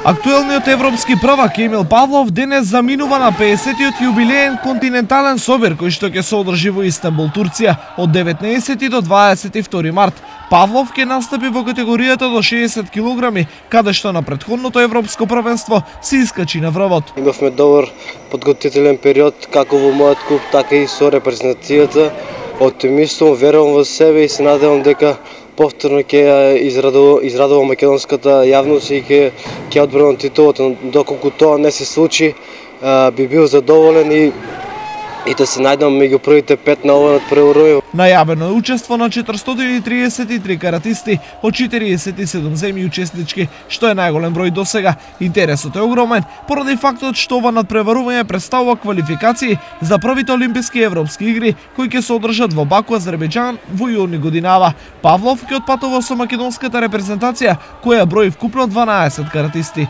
Актуелниот европски првак Емил Павлов денес заминува на 50-тиот јубилеен континентален собир кој што ќе се одржи во Истанбул, Турција од 19 до 22 март. Павлов ќе настапи во категоријата до 60 килограми, каде што на претходното европско првенство се искачи на врвот. Имавме добар подготвителен период како во мојот клуб, така и со репрезентацијата. Оптимистом, верувам во себе и се надевам дека повторно ќе израдува македонската јавност и ќе одбранам титулата. Доколку тоа не се случи, би бил задоволен и да се најдам меѓу првите 5 на овој преврвој. Најавено е учество на 433 каратисти од 47 земји учеснички, што е најголем број досега. Интересот е огромен поради фактот што ова надпреварување представува квалификации за првите олимписки и европски игри кои ќе се одржат во Баку, Азербејџан во јуни годинава. Павлов ќе отпатува со македонската репрезентација која брои вкупно 12 каратисти.